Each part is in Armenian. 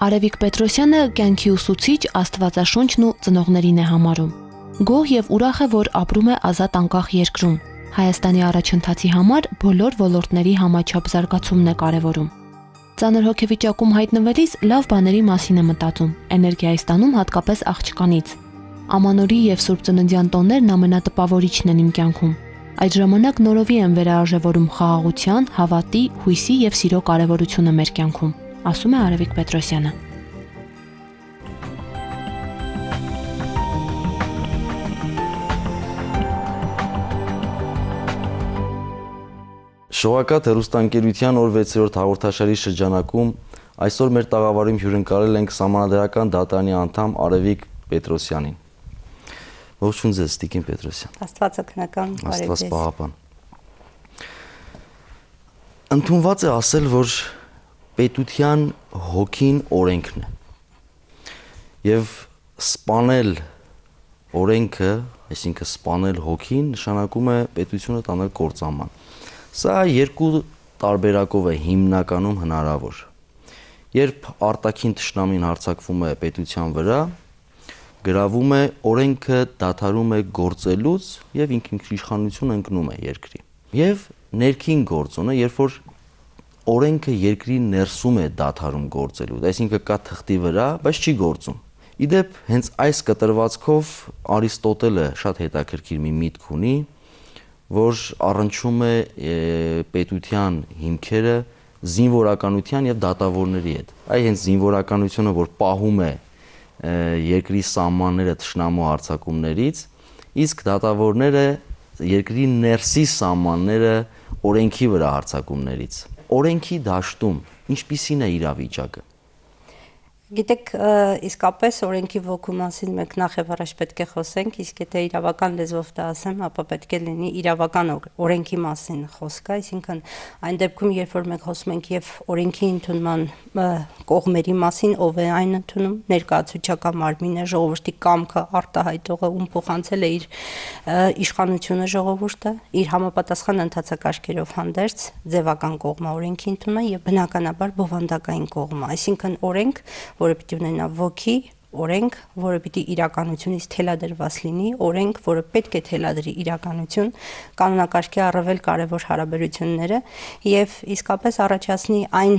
Արևիկ Պետրոսյանը կյանքի ուսուցիչ, աստվածաշունչն ու ծնողներին է համարում։ Գոհ եւ ուրախ է, որ ապրում է ազատ անկախ երկրում։ Հայաստանի առաջընթացի համար բոլոր ոլորտների համաչափ զարգացումն է կարևորում։ Ծանր հոգեվիճակում հայտնվելիս լավ բաների մասին է մտածում, էներգիա է ստանում հատկապես աղջկանից։ Ամանորի եւ Սուրբ Ծննդյան տոներն ամենատպավորիչն են իմ կյանքում։ Այդ ժամանակ նորովի եմ վերարժևորում խաղաղության, հավատի, հույսի եւ սիրո կարևորությունը մեր կյանքում, ասում է Արևիկ Պետրոսյանը։ Շողակաթ հեռուստաընկերության օր 6-րդ հաղորդաշարի շրջանակում այսօր մեր տաղավարում հյուրընկալել ենք Սահմանադրական դատարանի անդամ Արևիկ Պետրոսյանին։ Ողջույն ձեզ, Տիկին Պետրոսյան։ Աստվածօգնական բարև ձեզ։ Աստված պահապան։ Ընդունված է ասել, որ պետության հոգին օրենքն է։ Եվ սպանել օրենքը, այսինքն սպանել հոգին, նշանակում է պետությունը տանել կործանման։ Սա երկու տարբերակով է հիմնականում հնարավոր։ Երբ արտաքին թշնամին հարձակվում է պետության վրա, գրավում է օրենքը, դադարում է գործելուց եւ ինքնիշխանություն ընկնում է երկրի։ Եվ ներքին գործոնը, երբ որ օրենքը երկրի ներսում է դադարում գործելուց, այսինքն կա թղթի վրա, բայց չի գործում։ Իդեպ հենց այս կտրվածքով Արիստոտելը շատ հետաքրքիր մի միտք ունի, որ առնչում է պետության հիմքերը զինվորականության եւ դատավորների հետ։ Այ հենց զինվորականությունը, որ պահում է երկրի սահմանները թշնամու հարձակումներից, իսկ դատավորները երկրի ներսի սահմանները օրենքի վրա հարձակումներից։ Օրենքի դաշտում ինչպիսին է իրավիճակը։ Գիտեք, իսկապես օրենքի ոգու մասին մենք նախ եւ առաջ պետք է խոսենք, իսկ եթե իրավական լեզվով դա ասեմ, ապա պետք է լինի իրավական օրենքի մասին խոսքը, այսինքն այն դեպքում, երբ որ մենք խոսում ենք եւ օրենքի ընդունման կողմերի մասին, ով է այն ընդունում, ներկայացուցչական մարմինը, ժողովրդի կամքը արտահայտողը, ում փոխանցել է իր իշխանությունը ժողովուրդը, իր համապատասխան ընթացակարգերով հանդերձ ձևական կողմը օրենքի ընդունումը եւ բնականաբար բովանդակային կողմը, այսինքն օրենք, որը պիտի ունենա ոգի, օրենք, որը պիտի իրականությունից թելադրված լինի, օրենք, որը պետք է թելադրի իրականություն, կանոնակարգի առավել կարևոր հարաբերությունները եւ իսկապես առաջացնի այն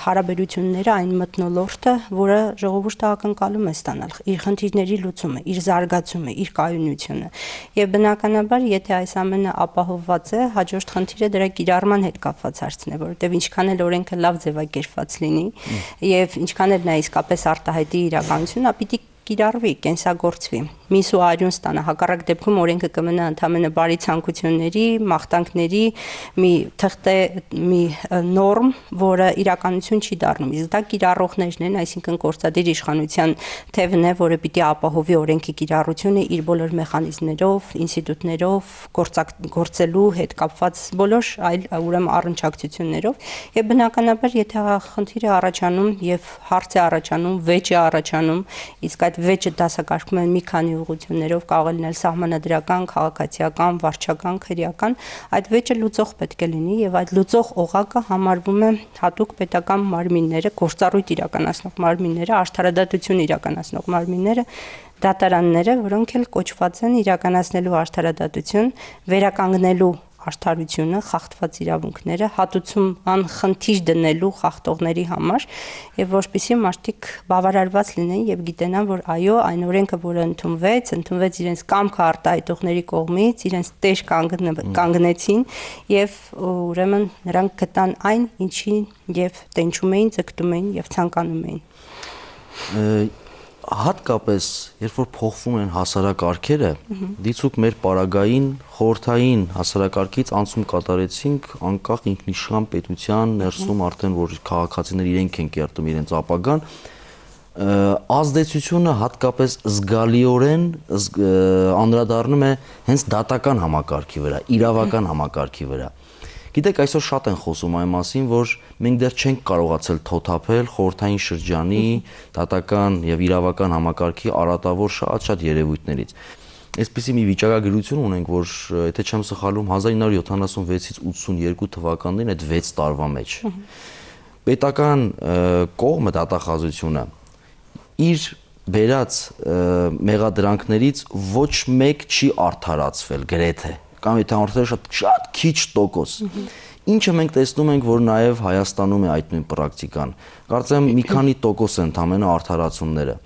հարաբերությունները, այն մթնոլորտը, որը ժողովուրդը ակնկալում է ստանալ, իր խնդիրների լուծումը, իր զարգացումը, իր կայունությունը։ Եվ բնականաբար, եթե այս ամենը ապահովված է, հաջորդ խնդիրը դրա կիրառման հետ կապված հարցն է, որովհետեւ ինչքան էլ օրենքը լավ ձևակերպված լինի եւ ինչքան էլ նա իսկապես արտահայտի իրականություն, պիտի կիրառվի, կենսագործվի, միս ու արյուն ստանա, հակառակ դեպքում օրենքը կմնա ընդամենը բարի ցանկությունների, մաղթանքների մի թղթե մի նորմ, որը իրականություն չի դառնում, իսկ դա կիրառողներն են, այսինքն գործադիր իշխանության թևն է, որը պիտի ապահովի օրենքի կիրառությունը իր բոլոր մեխանիզմներով, ինստիտուտներով, գործելու հետ կապված բոլոր այլ ուրեմն առնչակցություններով, եւ բնականաբար եթե խնդիր է առաջանում եւ հարց է առաջանում, վեճ է առաջանում, իսկ այդ վեճը դասակարգվում են մի քանի ուղղություններով, կարող է լինել սահմանադրական, քաղաքացիական, վարչական, քրեական, այդ վեճը լուծող պետք է լինի եւ այդ լուծող օղակը համարվում է հատուկ պետական մարմինները, գործառույթ իրականացնող մարմինները, արդարադատություն իրականացնող մարմինները, դատարանները, որոնք էլ կոչված են իրականացնելու արդարադատություն, վերականգնելու արդարությունը, խախտված իրավունքները, հատուցում անխնդիր դնելու խախտողների համար եւ որպեսզի մարդիկ բավարարված լինեն եւ գիտենան, որ այո, այն օրենքը, որը ընդունվեց իրենց կամքը արտահայտողների կողմից, իրենց տեր կանգնեցին եւ ուրեմն նրանք գտան այն, ինչին եւ տենչում էին, ձգտում էին եւ ցանկանում էին։ Հատկապես, երբ որ փոխվում են հասարակարգերը, դիցուք մեր պարագային խորհրդային հասարակարգից անցում կատարեցինք անկախ ինքնիշխան պետության ներսում արդեն որ քաղաքացիները իրենք են կերտում իրենց ապագան, ազդեցությունը հատկապես զգալիորեն անդրադառնում է հենց դատական համակարգի վրա, իրավական համակարգի վրա։ Գիտեք, այսօր շատ են խոսում այն մասին, որ մենք դեռ չենք կարողացել թոթափել խորհրդային շրջանի դատական եւ իրավական համակարգի արատավոր շատ երևույթներից։ Այսպիսի մի վիճակագրություն ունենք, որ եթե չեմ սխալվում 1976-ից 82 թվականներին այդ 6 տարվա մեջ պետական կողմը դատախազությունը իր վերած մեղադրանքներից ոչ մեկ չի արդարացվել գրեթե կամ եթե արդարացել շատ քիչ տոկոս ինչը մենք տեսնում ենք որ նաև Հայաստանում է այդ նույն պրակտիկան կարծեմ մի քանի տոկոս են ընդամենը արդարացումները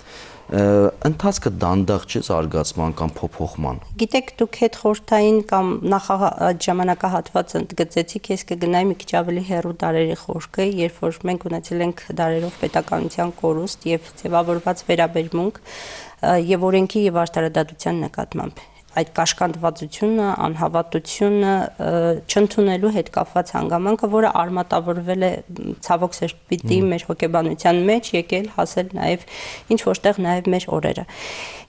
ընթացքը դանդաղ չէ զարգացման կամ փոփոխման Գիտեք դուք հետ խորհրդային կամ նախագահ ժամանակահատվածը ընդգծեցիք ես կգնայի մի քիչ ավելի հեռու դարերի խորքը երբ որ մենք ունեցել ենք դարերով պետականության կորուստ եւ ձևավորված վերաբերմունք եւ օրենքի եւ արդարադատության նկատմամբ այդ կաշկանդվածությունը, անհավատությունը չընդունելու հետ կապված հանգամանքը, որը արմատավորվել է ցավոք սրտի մեր հոգեբանության մեջ, եկել հասել նաև ինչ որտեղ նաև մեր օրերը։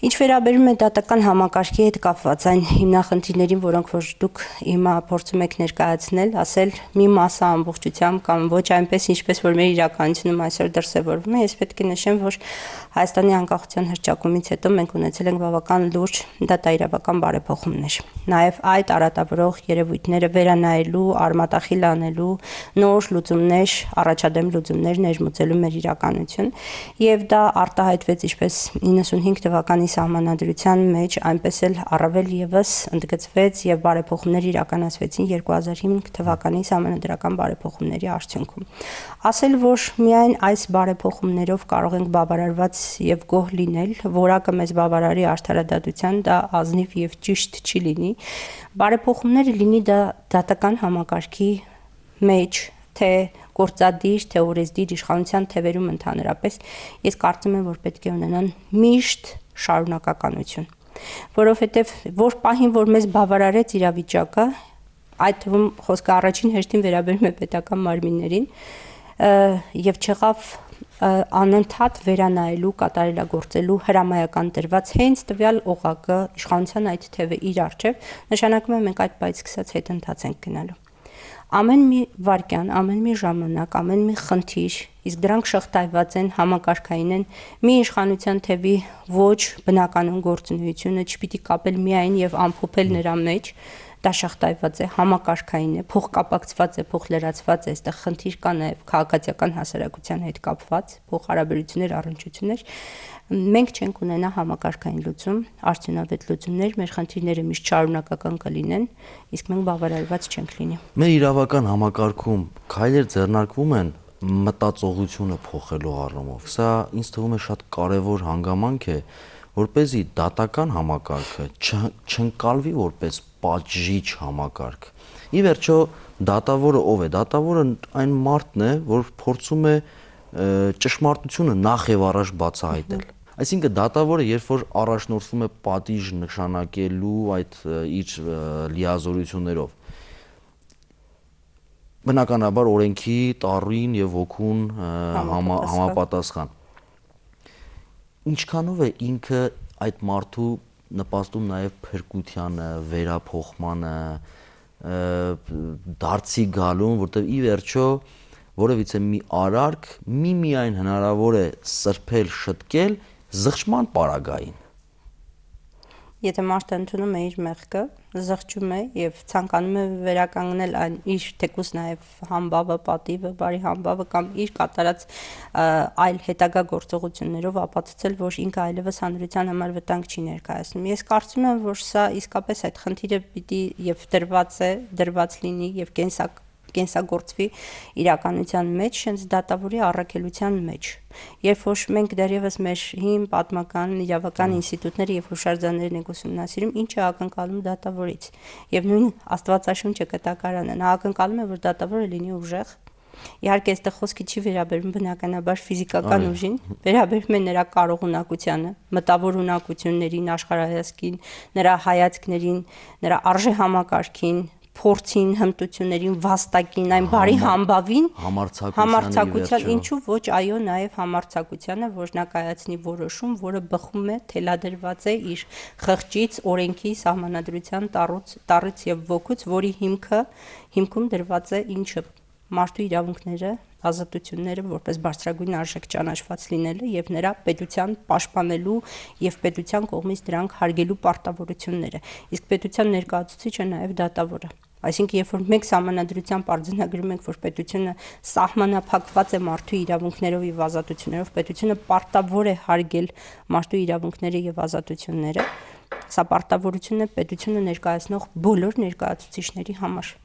Ինչ վերաբերում է դատական համակարգի հետ կապված այն հիմնախնդիրներին, որոնք որ դուք հիմա փորձում եք ներկայացնել, ասել մի մասը ամբողջությամբ կամ ոչ այնպես ինչպես որ մեր իրականությունում այսօր դրսևորվում է, ես պետք է նշեմ, որ Հայաստանի անկախության հռչակումից հետո մենք ունեցել ենք բավական լուրջ դատաիրավական բարեփոխումներ։ Նաև այդ արատավորող երևույթները վերանայելու, արմատախիլ անելու, նոր լուծումներ, առաջադեմ լուծումներ ներմուծելու մեր իրականություն, եւ դա արտահայտվեց ինչպես 95 թվականի սահմանադրության մեջ, այնպես էլ առավել եւս ընդգծվեց եւ բարեփոխումներ իրականացվեցին 2005 թվականի սահմանադրական բարեփոխումների արդյունքում։ Ասել, որ միայն այս բարեփոխումներով կարող ենք բավարարված եւ գոհ լինել, որակը մեզ բավարարի արդարադատության, դա ազնիվ եւ ճիշտ չի լինի։ Բարեփոխումները լինի դա դատական համակարգի մեջ, թե գործադիր, թե օրեսդիր իշխանության թևերում ընդհանրապես, ես կարծում եմ, որ պետք է ունենան միշտ շարունակականություն, որովհետեւ որ պահին, որ մեզ բավարարեց իրավիճակը, այդ թվում խոսքը առաջին հերթին վերաբերում է պետական մարմիններին, եւ չեղավ անընդհատ վերանայելու, կատարելագործելու հրամայական տրված հենց տվյալ օղակը իշխանության այդ թևը իր առջև, նշանակում է մենք այդ բայց սկսած հետընթաց ենք գնալու։ Ամեն մի վարքյան, ամեն մի ժամանակ, ամեն մի խնդիր, իսկ դրանք շղթայված են, համակարգային են, մի իշխանության թևի ոչ բնականon գործունեությունը չպիտի կապել միայն եւ ամփոփել նրա մեջ, դա շղթայված է, համակարգային է, փոխկապակցված է, փոխլրացված է, այստեղ խնդիր կա նաև քաղաքացիական հասարակության հետ կապված, փոխհարաբերություններ, առնչություններ, մենք չենք ունենա համակարգային լուծում, արդյունավետ լուծումներ, մեր խնդիրները միշտ շարունակական կլինեն, իսկ մենք բավարարված չենք լինի։ Մեր իրավական համակարգում քայլեր ձեռնարկվում են մտածողությունը փոխելու առումով։ Սա ինձ թվում է շատ կարևոր հանգամանք է, որպեսզի դատական համակարգը չընկալվի որպես պատժիչ համակարգ։ Ի վերջո դատավորը ով է։ Դատավորը այն մարդն է, որ փորձում է ճշմարտությունը նախ եւ առաջ բացահայտել։ Այսինքն դատավորը երբ որ առաջնորդվում է պատիժ նշանակելու այդ իր լիազորություններով, բնականաբար օրենքի տառին եւ ոգուն համապատասխան։ Ինչքանով է ինքը այդ մարդու նպաստում նաև փրկությանը, վերափոխմանը, դարձի գալուն, որտեղ ի վերջո որևիցե մի արարք միայն հնարավոր է սրբել, շտկել զղջման պարագային։ Եթե մարդը ընդունում է իր մեղքը, զղջում է եւ ցանկանում է վերականգնել այն իր թեկուզ նաեւ համբավը, պատիվը, բարի համբավը կամ իր կատարած այլ հետագա գործողություններով ապացուցել, որ ինքը այլևս հանրության համար վտանգ չի ներկայացնում։ Ես կարծում եմ, որ սա իսկապես այդ խնդիրը պիտի եւ դրված լինի եւ կենսագործվի իրականության մեջ, հենց դատավորի առաքելության մեջ։ Երբ որ մենք դեռևս մեր հին պատմական իրավական ինստիտուտները եւ հուշարձաններն ենք ուսումնասիրում, ինչ է ակնկալում դատավորից։ Եվ նույն Աստվածաշունչը կտակարանը նա ակնկալում է, որ դատավորը լինի ուժեղ։ Իհարկե այստեղ խոսքը չի վերաբերում բնականաբար ֆիզիկական ուժին, վերաբերում է նրա կարողունակությանը, մտավոր ունակություններին, աշխարհայացքին, նրա հայացքներին, նրա արժեհամակարգին, փորձին, հմտություններին, վաստակին, այն բարի համբավին, համարձակության, ինչու ոչ, այո, նաև համարձակությանը, որ նա կայացնի որոշում, որը բխում է, թելադրված է իր խղճից, օրենքի, սահմանադրության տառից եւ ոգուց, որի հիմքում դրված է ինչը մարդու իրավունքները, ազատությունները որպես բարձրագույն արժեք ճանաչված լինելը եւ նրա պետության պաշտպանելու եւ պետության կողմից դրանք հարգելու պարտավորությունները։ Իսկ պետության ներկայացուցիչը նաեւ դատավորը։ Այսինքն, երբ որ մենք սահմանադրությամբ արձանագրում ենք, որ պետությունը սահմանափակված է մարդու իրավունքներով եւ ազատություններով, պետությունը պարտավոր է հարգել մարդու իրավունքները եւ ազատությունները, սա պարտավորություն է պետությունը ներկայացնող բոլոր ներկայացուցիչների համար։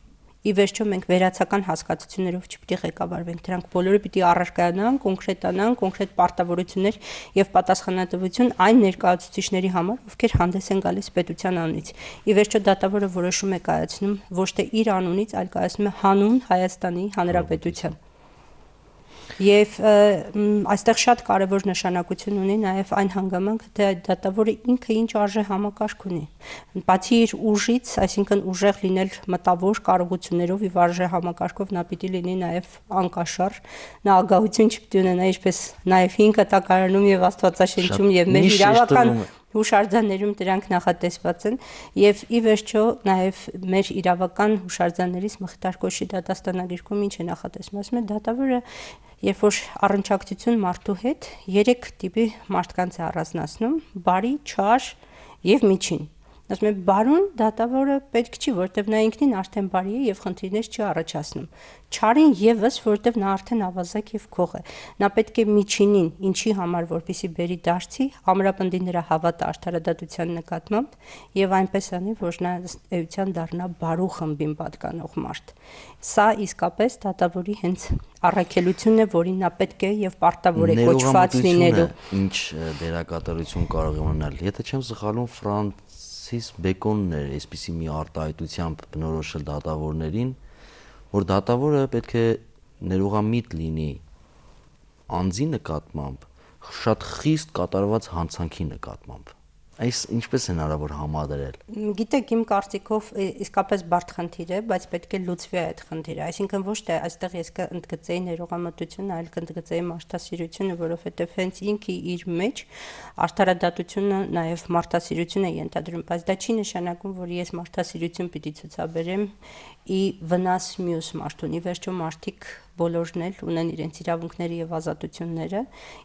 Ի վերջո մենք վերացական հասկացություններով չպիտի ղեկավարվենք, դրանք բոլորը պիտի առարկայանան, կոնկրետանան, կոնկրետ պարտավորություններ եւ պատասխանատվություն այն ներկայացուցիչների համար, ովքեր հանդես են գալիս պետության անունից։ Ի վերջո դատավորը որոշում է կայացնում ոչ թե իր անունից, այլ կայացնում է հանուն Հայաստանի Հանրապետության։ Եվ այստեղ շատ կարևոր նշանակություն ունի նաև այն հանգամանքը, թե այդ դատավորը ինքը ինչ արժե համակարգ ունի։ Բացի իր ուժից, այսինքն ուժեղ լինել մտավոր կարողություններով եւ արժե համակարգով, նա պիտի լինի նաև անկաշառ, նա ագահություն չպիտի ունենա, ինչպես նաև 5 կտակարանում եւ Աստվածաշնչում եւ մեր իրավական հուշարձաններում դրանք նախատեսված են եւ ի վերջո նաեւ մեր իրավական հուշարձաններից Մխիթար Կոշի դատաստանագիրքում ինչ է նախատեսվում, ասում է դատավորը երբ որ առնչակցություն մարդու հետ 3 տիպի մարդկանց է առանձնացնում՝ բարի, չար եւ միջին։ Ասում է բարուն դատավորը պետք չի, որտեվ նա ինքնին արդեն բարի է եւ խնդիրներ չի առաջացնում։ Չարին եւս, որտեվ նա արդեն ավազակ եւ գող է։ Նա պետք է միջինին, ինչի համար, որպեսի բերի դարձի, ամրապնդի նրա հավատը արդարադատության նկատմամբ եւ այնպես անի, որ նա էության դառնա բարու խմբին պատկանող մարդ։ Սա իսկապես դատավորի հենց առաքելությունն է, որին նա պետք է եւ պարտավոր է կոչված լինելու։ Ինչ դերակատարություն կարող է ունենալ։ Եթե չեմ սխալվում, Ֆրանսիս Բեկոնն էր այսպիսի մի արտահայտությամբ բնորոշել դատավորներին, որ դատավորը պետք է ներողամիտ լինի անձի նկատմամբ, շատ խիստ կատարված հանցանքի նկատմամբ։ Այս ինչպես է հնարավոր համադրել։ Գիտեք, իմ կարծիքով իսկապես բարդ խնդիր է, բայց պետք է լուծվի այդ խնդիրը։ Այսինքն ոչ թե այստեղ ես կընդգծեի ներողամտությունը, այլ կընդգծեի մարդասիրությունը, որովհետև հենց ինքը իր մեջ արդարադատությունը նաև մարդասիրություն է ենթադրում, բայց դա չի նշանակում, որ ես մարդասիրություն պիտի ցուցաբերեմ ի վնաս մյուս մարդուն։ Ի վերջո մարդիկ բոլորն էլ ունեն իրենց իրավունքները եւ ազատությունները,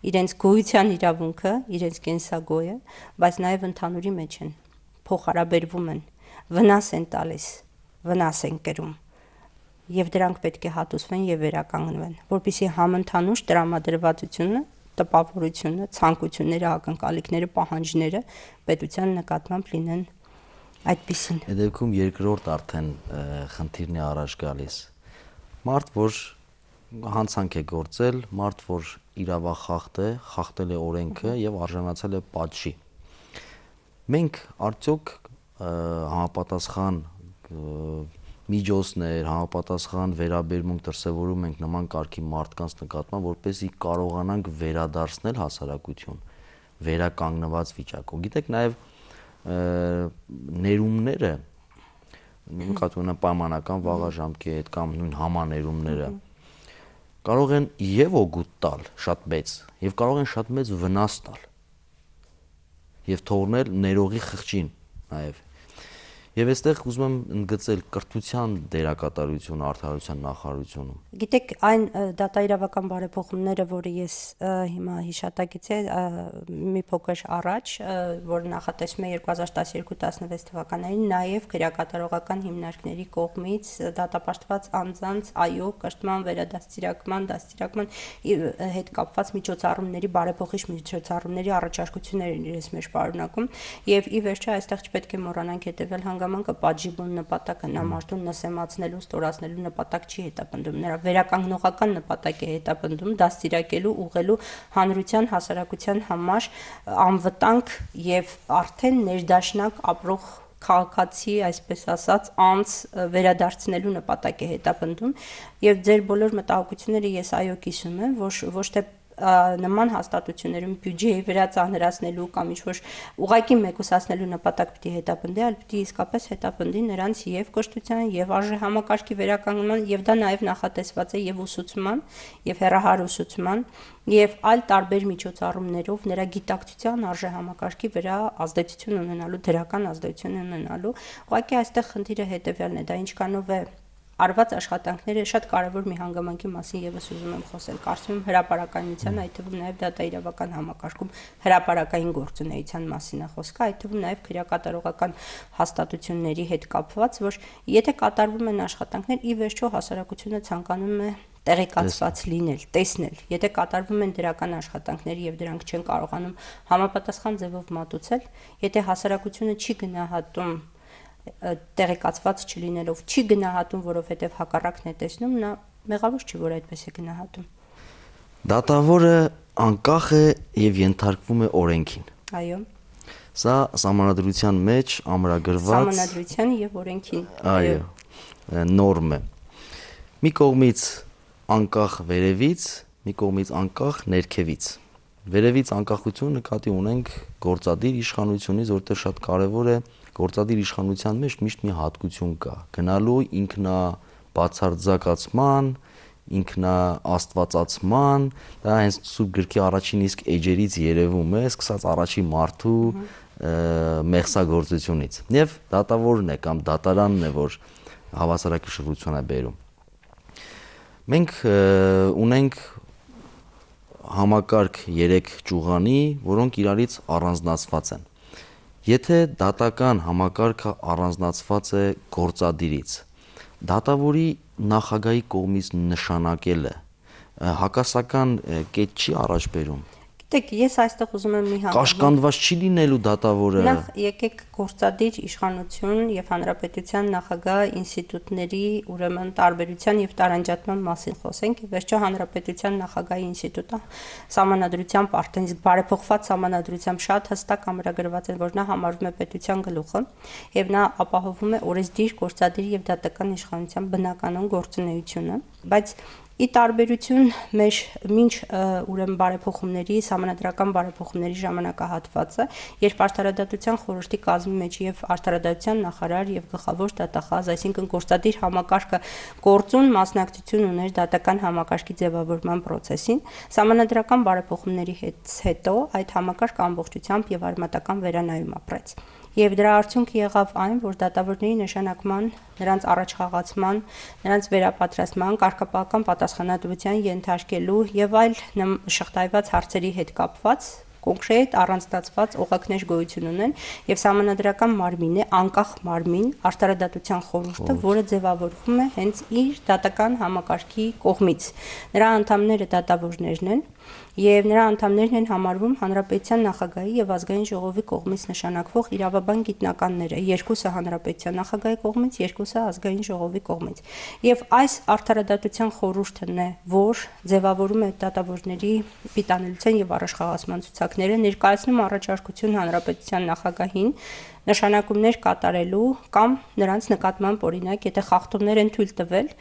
իրենց գոյության իրավունքը, իրենց կենսագոյը, բայց նաեւ ընդհանուրի մեջ են, փոխհարաբերվում են, վնաս են տալիս, վնաս են կրում։ Եվ դրանք պետք է հատուցվեն եւ վերականգնվեն, որպեսզի համընդհանուր տրամադրվածությունը, տպավորությունը, ցանկությունները, ակնկալիքները, պահանջները պետության նկատմամբ լինեն այդպիսին։ Այդ դեպքում երկրորդ արդեն խնդիրն է առաջ գալիս։ Մարդ, որ հանցանք է գործել, մարդ, որ խախտել է օրենքը եւ արժանացել է պատժի։ Մենք արդյոք համապատասխան միջոցներ, համապատասխան վերաբերմունք դրսևորում ենք նման կարգի մարդկանց նկատմամբ, որպեսզի կարողանանք վերադարձնել հասարակություն վերականգնված վիճակով։ Գիտեք, նաեւ ներումները, նկատի ունեմ պայմանական վաղաժամկետ կամ նույն համաներումները, կարող են եւ օգուտ տալ շատ մեծ, եւ կարող են շատ մեծ վնաս տալ եւ թողնել ներողի խղճին նաեւ։ Եվ այստեղ ուզում եմ ընդգծել կրթության դերակատարությունը արդարության նախարարությունում։ Գիտեք, այն դատաիրավական բարեփոխումները, որը ես հիմա հիշատակեցի մի փոքր առաջ, որ նախատեսվում է 2012-16 թվականներին, նաև քրեակատարողական հիմնարկների կողմից դատապարտված անձանց այո կրթման, վերադաստիարակման, դաստիարակման հետ կապված միջոցառումների բարեփոխիչ միջոցառումների առաջարկություններ են իրենց մեջ պարունակում, եւ ի վերջո այստեղ չպետք է մոռանանք հետեւել հանգամանքը պատժի բուն նպատակը նա մարդուն նսեմացնելու, ստորացնելու նպատակ չի հետապնդում, նրա վերականգնողական նպատակ է հետապնդում դաստիարակելու, ուղղելու հանրության հասարակության համար անվտանգ եւ արդեն ներդաշնակ ապրող քաղաքացի, այսպես ասած, անձ վերադարձնելու նպատակ է հետապնդում եւ ձեր բոլոր մտահոգությունները ես այո կիսում եմ, ոչ թե նման հաստատություններում բյուջեի վրա ծանրացնելու կամ ինչ-որ ուղղակի մեկուսացնելու նպատակ պիտի հետապնդի, այլ պիտի իսկապես հետապնդի նրանց եւ կրթության եւ արժե համակարգի վերականգնման եւ դա նաեւ նախատեսված է եւ ուսուցման եւ հեռահար ուսուցման եւ այլ տարբեր միջոցառումներով նրա գիտակցության արժե համակարգի վրա ազդեցություն ունենալու, դրական ազդեցություն ունենալու։ Ուղղակի այստեղ խնդիրը հետեւյալն է, դա ինչքանով է արված աշխատանքները շատ կարևոր մի հանգամանքի մասին եւս ուզում եմ խոսել։ Կարծում եմ հրապարակայնության, այդ թվում նաեւ դատաիրավական համակարգում հրապարակային գործունեության մասին է խոսքը, այդ թվում նաեւ քրեակատարողական հաստատությունների հետ կապված, որ եթե կատարվում են աշխատանքներ, ի վերջո հասարակությունը ցանկանում է տեղեկացված լինել, տեսնել։ Եթե կատարվում են դրական աշխատանքներ եւ դրանք չեն կարողանում համապատասխան ձևով մատուցել, եթե հասարակությունը չի գնահատում տեղեկացված չլինելով, չի գնահատում, որովհետև հակառակն է տեսնում, նա մեղավոր չի, որ այդպես է գնահատում։ Դատավորը անկախ է եւ ենթարկվում է օրենքին։ Այո։ Սա սահմանադրության մեջ ամրագրված Սահմանադրության եւ օրենքին։ Այո, նորմ է։ Մի կողմից անկախ վերևից, մի կողմից անկախ ներքևից։ Վերևից անկախություն նկատի ունենք գործադիր իշխանությունից, որտեղ շատ կարևոր է գործադիր իշխանության մեջ միշտ մի հատկություն կա՝ գնալու ինքնաբացարձակացման, ինքնաաստվածացման, դա հենց Սուրբ գրքի առաջին իսկ էջերից երևում է, սկսած առաջի մարդու մեղսագործությունից։ Եվ դատավորն է կամ դատարանն է, որ հավասարակշռություն է բերում։ Մենք ունենք համակարգ 3 ճյուղանի, որոնք իրարից առանձնացված են։ Եթե դատական համակարգը առանձնացված է գործադիրից, դատավորի նախագահի կողմից նշանակելը հակասական կետ չի առաջ բերում։ Գիտեք, ես այստեղ ուզում եմ մի կաշկանդված չի լինելու դատավորը։ Նախ եկեք գործադիր իշխանություն եւ հանրապետության նախագահ ինստիտուտների ուրեմն տարբերության եւ տարանջատման մասին խոսենք։ Վերջո հանրապետության նախագահի ինստիտուտը սահմանադրությամբ արդեն իսկ բարեփոխված սահմանադրությամբ շատ հստակ ամրագրված է, որ նա համարվում է պետության գլուխը եւ նա ապահովում է օրենսդիր, գործադիր եւ դատական իշխանության բնականon գործունեությունը, բայց ի տարբերություն մեր մինչ ուրեմն բարեփոխումների, սահմանադրական բարեփոխումների ժամանակահատվածը, երբ արդարադատության խորհրդի կազմի մեջ եւ արդարադատության նախարար եւ գլխավոր դատախազ, այսինքն գործադիր համակարգը գործուն մասնակցություն ուներ դատական համակարգի ձևավորման process-ին, սահմանադրական բարեփոխումների հետո այդ համակարգը ամբողջությամբ եւ արմատական վերանայում ապրեց։ Եվ դրա արդյունքը եղավ այն, որ դատավորների նշանակման, նրանց առաջխաղացման, նրանց վերապատրաստման, կարգապահական պատասխանատվության ենթարկելու եւ այլ շղթայված հարցերի հետ կապված կոնկրետ առանձնացված օղակներ գոյություն ունեն եւ սահմանադրական մարմինն է, անկախ մարմին, արդարադատության խորհուրդը, որը ձևավորվում է հենց իր դատական համակարգի կողմից։ Նրա անդամները դատավորներն են եւ նրա անդամներն են համարվում հանրապետության նախագահի եւ ազգային ժողովի կողմից նշանակվող իրավաբան գիտնականները, երկուսը հանրապետության նախագահի կողմից, երկուսը ազգային ժողովի կողմից։ Եվ այս արդարադատության խորհուրդն է, որ ձևավորում է դատավորների պիտանելիության եւ առաջխաղացման ցուցակները, ներկայացնում առաջարկություն հանրապետության նախագահին նշանակումներ կատարելու կամ նրանց նկատմամբ օրինակ, եթե խախտումներ են թույլ տվել,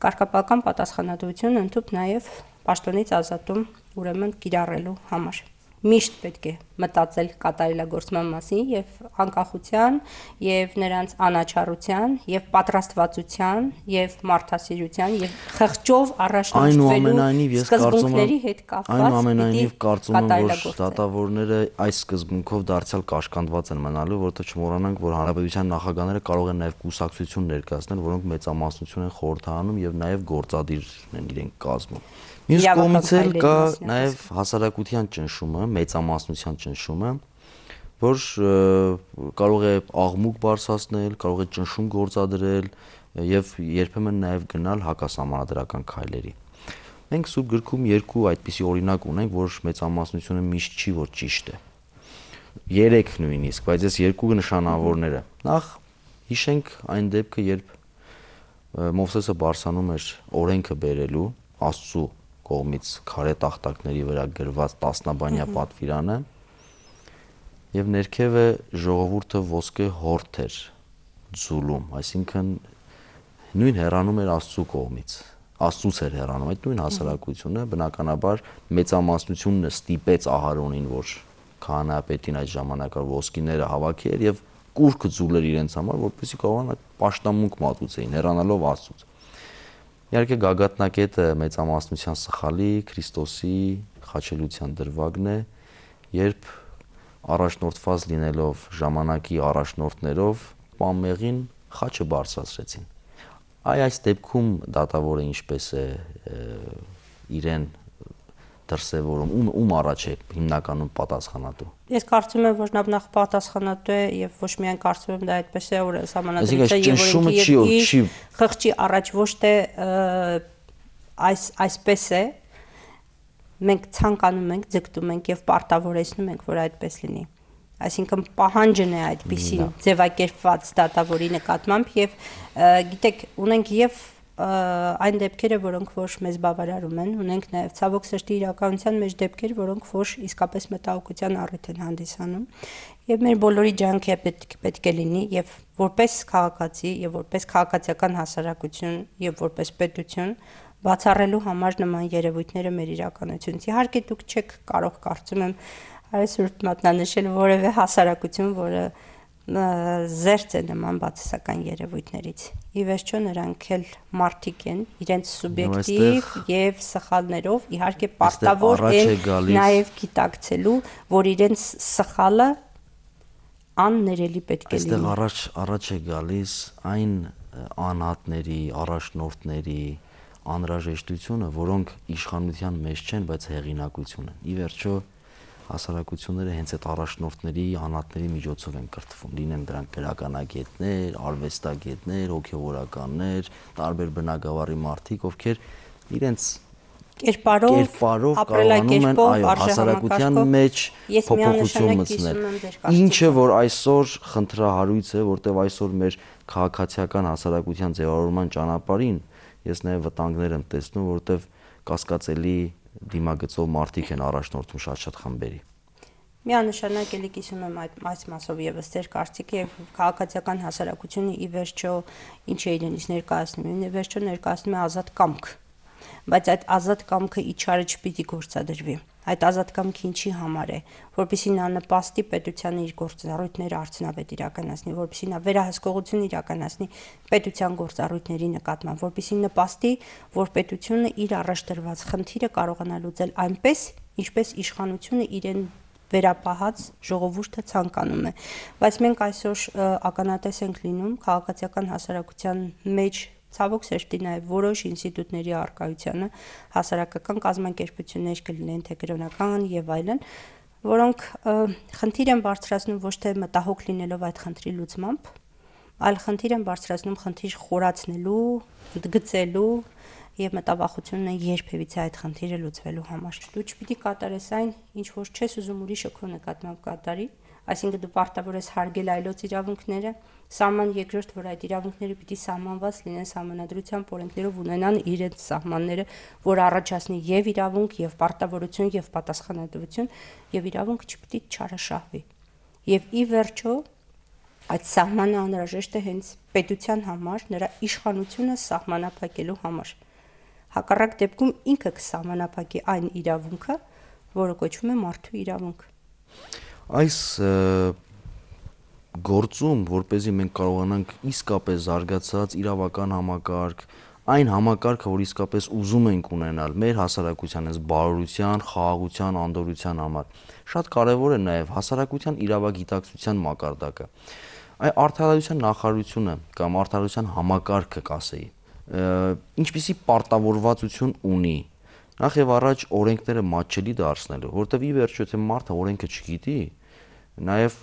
կարգապահական պատասխանատվություն ընդཐུպ նաեւ պաշտոնից ազատում ուրեմն կիրառելու համար։ Միշտ պետք է մտածել կատարելագործման մասին եւ անկախության եւ նրանց անաչառության եւ պատրաստվածության եւ մարդասիրության եւ խղճով առաջնորդվելու սկզբունքների հետ կապված այնուամենայնիվ կարծում եմ, որ դատավորները այս սկզբունքով դարձյալ կաշկանդված են մնալու, որովհետեւ չմոռանանք, որ հանրապետության նախագահները կարող են նաեւ կուսակցություն ներկայացնել, որոնք մեծամասնություն են խորհրդանում եւ նաեւ գործադիրն են իրենք կազմում։ Մյուս կողմից էլ կա նաև հասարակության ճնշումը, մեծամասնության ճնշումը, որ կարող է աղմուկ բարձրացնել, կարող է ճնշում գործադրել եւ երբեմն նաև գնալ հակասահմանադրական քայլերի։ Մենք Սուրբ գրքում երկու այդպիսի օրինակ ունենք, որ մեծամասնությունը միշտ չի, որ ճիշտ է։ 3 նույնիսկ, բայց այս երկու նշանավորները։ Նախ հիշենք այն դեպքը, երբ Մովսեսը բարձրանում էր օրենքը բերելու Աստծո կողմից քարե տախտակների վրա գրված 10-բանյա պատվիրանը եւ ներքևը ժողովուրդը ոսկե հորթ էր ձուլում, այսինքն նույն հեռանում էր Աստծո կողմից, Աստծուց էր հեռանում, այդ նույն հասարակությունը բնականաբար մեծամասնությունն ստիպեց Ահարոնին, որ քահանայապետին այդ ժամանակը ոսկիները հավաքեր եւ կուրքը ձուլեր իրենց համար, որպեսզի կարողանան պաշտամունք մատուցեին, հեռանալով Աստծուց։ Իհարկե գագաթնակետը մեծամասնության սխալի Քրիստոսի խաչելության դրվագն է, երբ առաջնորդված լինելով ժամանակի առաջնորդներով պամեղին խաչը բարձրացրեցին։ Այս դեպքում դատավորը ինչպես է իրեն դրսևորում, ում առաջ է հիմնականում պատասխանատու։ Ես կարծում եմ, որ նախ պատասխանատու է եւ ոչ միայն կարծում եմ, դա այդպես է, որ համանadrության եւ օրենքի խղճի առաջ ոչ թե այսպես է, մենք ցանկանում ենք, ձգտում ենք եւ պարտավորեցնում ենք, որ այդպես լինի։ Այսինքն պահանջն է այդպիսին ձևակերպված դատավորի նկատմամբ եւ գիտեք, ունենք եւ այն դեպքերը, որոնք որ մեզ բավարարում են, ունենք նաեւ ցավոք սրտի իրականության մեջ դեպքեր, որոնք որ իսկապես մտահոգության առիթ են հանդիսանում եւ մեր բոլորի ջանքը պետք է լինի եւ որպես քաղաքացի եւ որպես քաղաքացիական հասարակություն եւ որպես պետություն բացառելու համար նման երևույթները մեր իրականությունից։ Իհարկե դուք չեք կարող, կարծում եմ, այսօր մատնանշել որևէ հասարակություն, որը զերծ է նման բացասական երևույթներից։ Ի վերջո նրանք էլ մարդիկ են, իրենց սուբյեկտիվ եւ սխալներով, իհարկե պարտավոր են նաեւ գիտակցելու, որ իրենց սխալը աններելի պետք է լինի։ Այստեղ առաջ է գալիս այն անհատների, առաջնորդների անհրաժեշտությունը, որոնք իշխանության մեջ չեն, բայց հեղինակություն են։ Ի վերջո հասարակությունները հենց այդ առաջնորդների, անհատների միջոցով են կրթվում, լինեն դրանք գրականագետներ, արվեստագետներ, հոգևորականներ, տարբեր բնագավառի մարդիկ, ովքեր իրենց կերպարով կարողանում են հասարակության մեջ փոփոխություն մտցնել։ Ինչը որ այսօր խնդրահարույց է, որտեղ այսօր մեր քաղաքացիական հասարակության ձևավորման ճանապարհին ես նաև վտանգներ եմ տեսնում, որտեղ կասկածելի դիմագծով մարդիկ են առաջնորդում շատ խմբերի։ Միանշանակ էլի կիսում եմ այս մասով եւս ձեր կարծիքը եւ քաղաքացիական հասարակությունը ի վերջո ինչ է իրենից ներկայացնում, ի վերջո ներկայացնում է ազատ կամք, բայց այդ ազատ կամքը իջարը չպիտի գործադրվի։ Այդ ազատ կամքը ինչի համար է, որպեսզի նա նպաստի պետությանը իր գործառույթները արդյունավետ իրականացնի, որպեսզի նա վերահսկողություն իրականացնի պետության գործառույթների նկատմամբ, որպեսզի նպաստի, որ պետությունը իր առաջ դրված խնդիրը կարողանա լուծել այնպես, ինչպես իշխանությունը իրեն վերապահած ժողովուրդը ցանկանում է։ Բայց մենք այսօր ականատես ենք լինում քաղաքացիական հասարակության մեջ ցավոք սրտի նաև որոշ ինստիտուտների առկայությանը, հասարակական կազմակերպություններ կլինեն, թե կրոնական եւ այլն, որոնք խնդիր են բարձրացնում ոչ թե մտահոգ լինելով այդ խնդրի լուծմամբ, այլ խնդիր են բարձրացնում խնդիր խորացնելու, գծելու եւ մտավախությունն է երբևիցե այդ խնդիրը լուծվելու համար։ Դու չպիտի կատարես այն, ինչ որ չես ուզում ուրիշը քո նկատմամբ կատարի, այսինքն դու պարտավոր ես հարգել այլոց իրավունքները, սահման երկրորդ, որ այդ իրավունքները պիտի սահմանված լինեն համանadrության օրենքներով, ունենան իրենց սահմանները, որ առաջացնի եւ իրավունք, եւ պարտավորություն, եւ պատասխանատվություն, եւ իրավունքը չպիտի չարաշահվի։ Եվ ի վերջո այդ սահմանը անհրաժեշտ է հենց պետության համար, նրա իշխանությունը սահմանափակելու համար։ Հակառակ դեպքում ինքը կսահմանափակի այն իրավունքը, որը կոչվում է մարդու իրավունք։ Այս գործում, որպեսզի մենք կարողանանք իսկապես զարգացած իրավական համակարգ, այն համակարգը, որ իսկապես ուզում ենք ունենալ մեր հասարակության այս բարօրության, խաղաղության, անդորրության համար, շատ կարևոր է նաև հասարակության իրավագիտակցության մակարդակը։ Այ արդարացության նախարարությունը կամ արդարացության համակարգը կասեի, ինչպիսի պարտավորվածություն ունի նախ եւ առաջ օրենքները մատչելի դարձնելու, որտեւ ի վերջո թե մարդը օրենքը չգիտի, նաեւ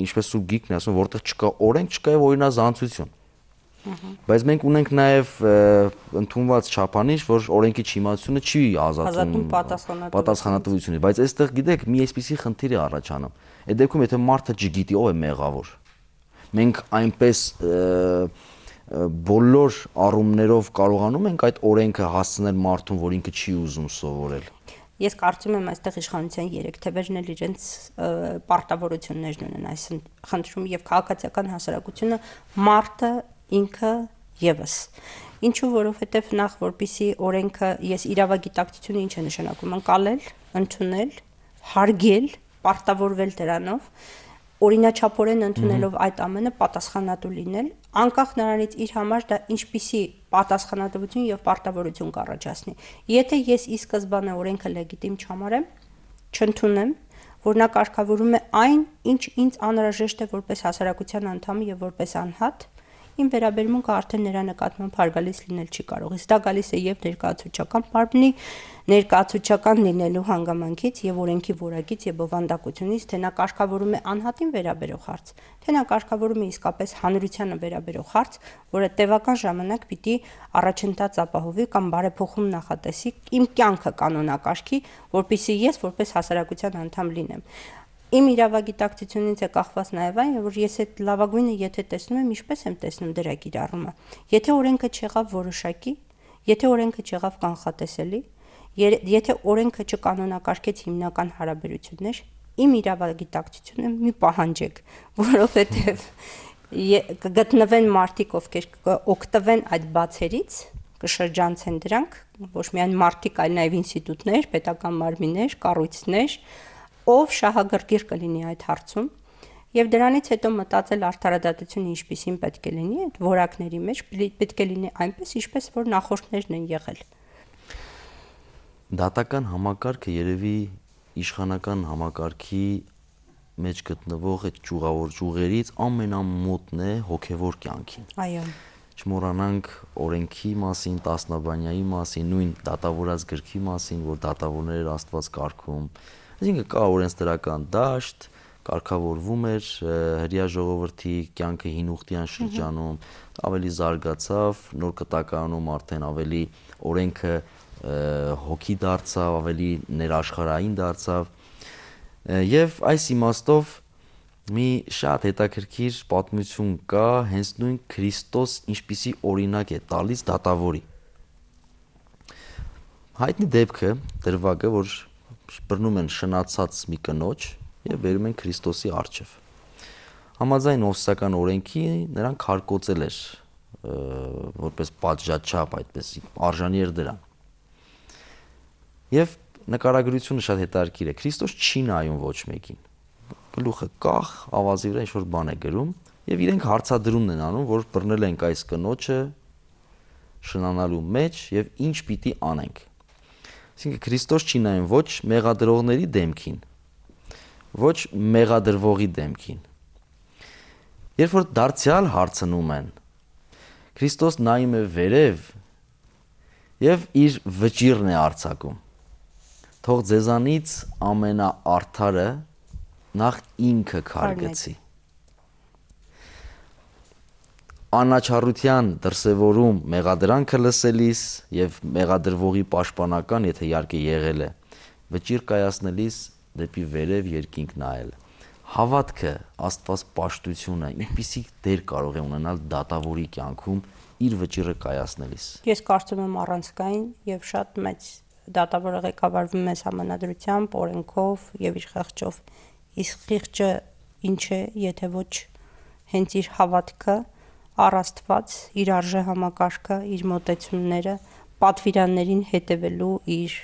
ինչպես Սուրբ Գիրքն է ասում, որտեղ չկա օրենք, չկա եւ օրինազանցություն։ Բայց մենք ունենք նաեւ ընդունված չափանիշ, որ օրենքի չիմացությունը չի ազատում պատասխանատվությունից, բայց այստեղ գիտեք, մի այսպիսի խնդիր է առաջանում։ Այդ դեպքում եթե մարդը չգիտի ով է մեղավոր, մենք այնպես բոլոր առումներով կարողանում ենք այդ օրենքը հասցնել մարդուն, որ ինքը չի ուզում սովորել։ Ես կարծում եմ այստեղ իշխանության երեք թևերն էլ իրենց պարտավորություններն ունեն այս խնդրում եւ քաղաքացիական հասարակությունը մարդը ինքը եւս։ Ինչու, որովհետեւ նախ որպիսի օրենքը ես իրավագիտակցությունը ինչ է նշանակում, ընկալել, ընդունել, հարգել, պարտավորվել դրանով, օրինաչափորեն ընդունելով այդ ամենը պատասխանատու լինել, անկախ նրանից իր համար դա ինչպիսի պատասխանատվություն եւ պարտավորություն կառաջացնի։ Եթե ես ի սկզբանե օրենքը լեգիտիմ չհամարեմ, չընդունեմ, որ նա կարգավորում է այն, ինչ ինձ անհրաժեշտ է որպես հասարակության անդամ եւ որպես անհատ, իմ վերաբերմունքը արդեն նրա նկատմամբ հարգալից լինել չի կարող։ Իսկ դա գալիս է եւ ներկայացուցչական մարմնի ներկայացուցչական լինելու հանգամանքից եւ օրենքի որակից եւ բովանդակությունից, թե նա կարգավորում է անհատին վերաբերող հարց, թե նա կարգավորում է իսկապես հանրությանը վերաբերող հարց, որը տևական ժամանակ պիտի առաջընթաց ապահովի կամ բարեփոխում նախատեսի իմ կյանքը կանոնակարգի, որպեսզի ես որպես հասարակության անդամ լինեմ։ Իմ իրավագիտակցությունից է կախված նաև այն, որ ես այդ լավագույնը եթե տեսնում եմ, ինչպես եմ տեսնում դրա կիրառումը։ Եթե օրենքը չեղավ որոշակի, եթե օրենքը չեղավ կանխատեսելի, եթե օրենքը չկանոնակարգեց հիմնական հարաբերություններ, իմ իրավագիտակցությունը մի պահանջեք, որովհետև կգտնվեն մարդիկ, ովքեր կօգտվեն այդ բացերից, կշրջանցեն դրանք, ոչ միայն մարդիկ, այլ նաև ինստիտուտներ, պետական մարմիններ, կառույցներ, ով շահագրգիռ կլինի այդ հարցում եւ դրանից հետո մտածել արդարադատությունը ինչպիսին պետք է լինի այդ որակների մեջ պետք է լինի այնպես ինչպես որ նախորդներն են եղել։ Դատական համակարգը երևի իշխանական համակարգի մեջ գտնվող այդ ճյուղավոր ճյուղերից ամենամոտն է հոգևոր կյանքին։ Այո։ Չմոռանանք օրենքի մասին, տասնաբանյայի մասին, նույն դատավորած գրքի մասին, որ դատավորներ Աստված կարգում։ Այսինքն կա օրենսդրական դաշտ, կարգավորվում էր հրեա ժողովրդի կյանքը հին ուխտյան շրջանում, ավելի զարգացավ, նոր կտակարանում արդեն ավելի օրենքը հոգի դարձավ, ավելի ներաշխարհային դարձավ, եւ այս իմաստով մի շատ հետաքրքիր պատմություն կա հենց նույն Քրիստոս ինչպիսի օրինակ է տալիս դատավորի։ Հայտնի դեպքը դրվագը, որ բռնում են շնացած մի կնոջ եւ բերում են Քրիստոսի առջև։ Համաձայն Մովսեսական օրենքի նրան քարկոծել էր որպես պատժաչափ, այդպես արժանի էր դրան։ Եվ նկարագրությունը շատ հետաքրքիր է։ Քրիստոս չի նայում ոչ մեկին։ Գլուխը կախ, ավազի վրա ինչ-որ բան է գրում եւ իրենք հարցադրումն են անում, որ բռնել ենք այս կնոջը շնանալու մեջ եւ ինչ պիտի անենք։ Այսինքն Քրիստոս չի նայում ոչ մեղադրողների դեմքին, ոչ մեղադրվողի դեմքին։ Երբ որ դարձյալ հարցնում են, Քրիստոս նայում է վերև եւ իր վճիռն է արձակում։ Թող ձեզանից ամենաարդարը նախ ինքը քարգեցի։ Անաչառության դրսևորում մեղադրանքը լսելիս եւ մեղադրվողի պաշտպանական, եթե իհարկե եղել է, վճիռ կայացնելիս դեպի վերև երկինք նայել։ Հավատքը, Աստված պաշտությունը ինչպիսի դեր կարող է ունենալ դատավորի կյանքում իր վճիռը կայացնելիս։ Ես կարծում եմ առանցքային եւ շատ մեծ դատավորը ղեկավարվում է համանadrությամբ, օրենքով եւ իր խեղճով։ Իսկ խիղճը ինչ է, եթե ոչ հենց իր հավատքը, առ Աստված, իր արժե համակարգը, իր մոտեցումները, պատվիրաններին հետևելու իր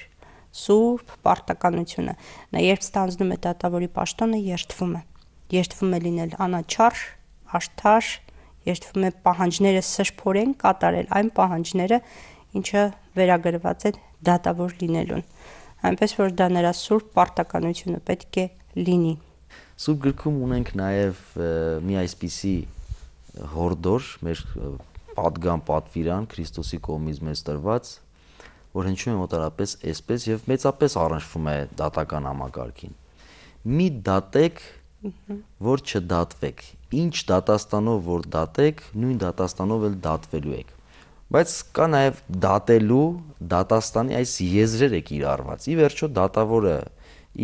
սուրբ պարտականությունը։ Նա երբ ստանձնում է դատավորի պաշտոնը, երդվում է լինել անաչառ, արդար, երդվում է պահանջները սրբորեն կատարել այն պահանջները, ինչը վերագրված է դատավոր լինելուն։ Այնպես որ դա նրա սուրբ պարտականությունը պետք է լինի։ Սուրբ գրքում ունենք նաև մի այսպիսի հորդոր, մեր պատգամ պատվիրան Քրիստոսի կողմից մեզ տրված, որ հնչում է մոտարապես այսպես եւ մեծապես առնչվում է դատական համակարգին։ Մի դատեք, որ չդատվեք։ Ինչ դատաստանով որ դատեք, նույն դատաստանով էլ դատվելու եք։ Բայց կա նաև դատելու, դատաստանի այս եզրերը կիրառված։ Ի վերջո դատավորը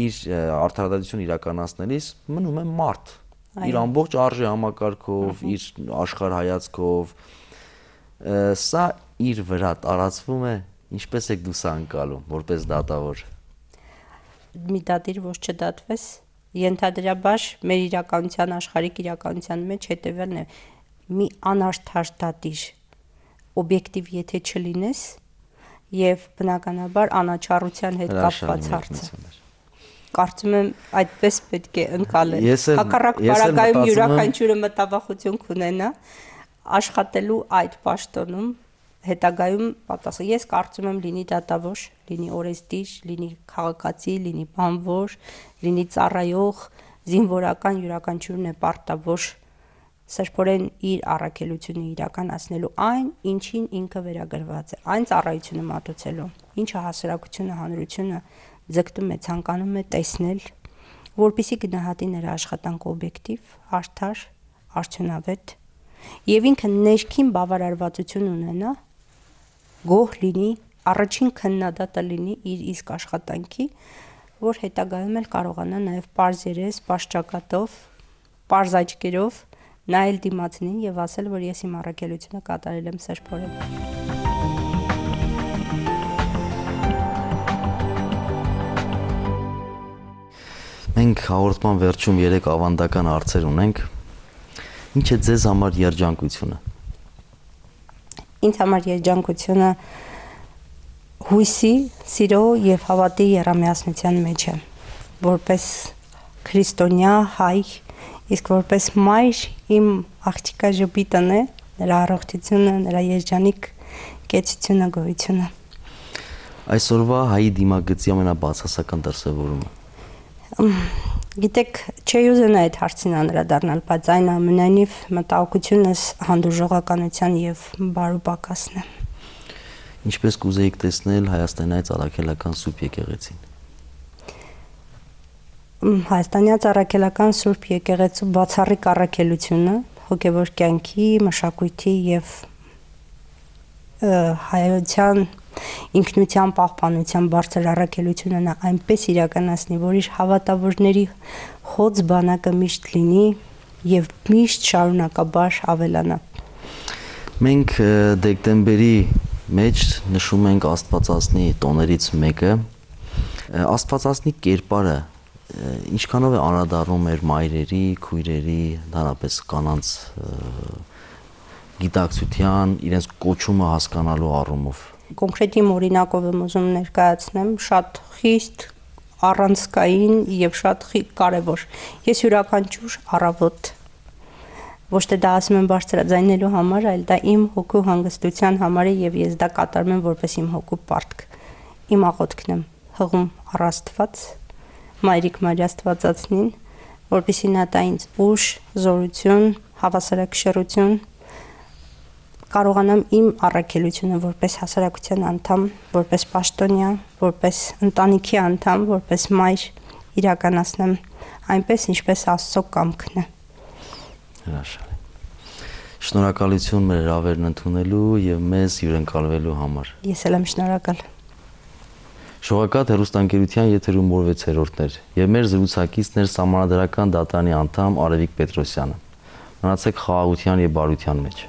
իր արդարադատություն իրականացնելիս մնում է մարդ։ Իր ամբողջ արժե համակարգով, իր աշխարհայացքով, սա իր վրա տարածվում է, ինչպես եք դու սա անցալում որպես դատավոր։ Մի դատիր, որ չդատվես, ենթադրաբար մեր իրականության աշխարհիկ իրականության մեջ հետևելն է մի անարդար դատիր, օբյեկտիվ եթե չլինես եւ բնականաբար անաչառության հետ կապված հարցը։ Կարծում եմ այդպես պետք է ընկալել։ Հակառակ պարագայում յուրաքանչյուրը մտավախություն կունենա աշխատելու այդ պաշտոնում հետագայում պատասխան։ Ես կարծում եմ լինի դատավոր, լինի օրենսդիր, լինի քաղաքացի, լինի բանվոր, լինի ծառայող, զինվորական յուրաքանչյուրն է պարտավոր սրբորեն իր առաքելությունը իրականացնելու այն, ինչին ինքը վերագրված է, այն ծառայությունը մատուցելու, ինչը հասարակությունը, հանրությունը ձգտում է, ցանկանում է տեսնել, որպեսզի գնահատի նրա աշխատանքը օբյեկտիվ, արդար, արդյունավետ եւ ինքը ներքին բավարարվածություն ունենա, գոհ լինի, առաջին քննադատը լինի իր իսկ աշխատանքի, որ հետագայում էլ կարողանա նաեւ պարզ երես, պարզ ճակատով, պարզ աչքերով նայել դիմացին եւ ասել, որ ես իմ առաքելությունը կատարել եմ սրբորեն։ Մենք հաղորդման վերջում 3 ավանդական հարցեր ունենք։ Ինչ է ձեզ համար երջանկությունը։ Ինձ համար երջանկությունը հույսի, սիրո եւ հավատի երամիասնության մեջ է, որպես քրիստոնյա հայ, իսկ որպես մայր իմ աղջիկա ժպիտն է, նրա առողջությունը, նրա երջանիկ կեցությունը, գոյությունը։ Այսօրվա հայի դիմագծի ամենաբացասական դրսևորումը։ Գիտեք, չէի ուզենա այդ հարցին անդրադառնալ, բայց այնուամենայնիվ մտահոգությունս հանդուրժողականության եւ բարու պակասն է։ Ինչպես կուզեիք տեսնել Հայաստանից առաքելական Սուրբ եկեղեցին։ Հայաստանից առաքելական Սուրբ եկեղեցու բացառիկ առաքելությունը հոգևոր կյանքի, մշակույթի եւ հայության ինքնության պահպանության բարձր առաքելությունը նա այնպես իրականացնի, որ իր հավատավորների հոծ բանակը միշտ լինի եւ միշտ շարունակաբար ավելանա։ Մենք դեկտեմբերի մեջ նշում ենք Աստվածածնի տոներից մեկը։ Աստվածածնի կերպարը ինչքանով է անդրադառնում մեր մայրերի, քույրերի, ընդհանրապես կանանց գիտակցության, իրենց կոչումը հասկանալու առումով։ Կոնկրետ իմ օրինակով եմ ուզում ներկայացնեմ, շատ խիստ առանցքային եւ շատ կարեւոր։ Ես յուրաքանչյուր առավոտ ոչ թե դա ասում եմ բարձրաձայնելու համար, այլ դա իմ հոգու հանգստության համար է եւ ես դա կատարում եմ որպես իմ հոգու պարտք։ Իմ աղոթքն եմ հղում առ Աստված, Մայրիկ Մարիա Աստվածածնին, որպեսզի նա տա ինձ ուժ, զորություն, հավասարակշռություն, կարողանամ իմ առաքելությունը որպես հասարակության անդամ, որպես պաշտոնյա, որպես ընտանիքի անդամ, որպես մայր իրականացնեմ այնպես, ինչպես Աստծո կամքն է։ Հրաշալի։ Շնորհակալություն մեր հրավերն ընդունելու եւ մեզ հյուրընկալվելու համար։ Ես էլ եմ շնորհակալ։ Շողակաթ հեռուստաընկերության եթերում մոռ 6-րդներ եւ մեր զրուցակիցն էր Սահմանադրական դատարանի անդամ Արևիկ Պետրոսյանը։ Մնացեք խաղաղության եւ բարության մեջ։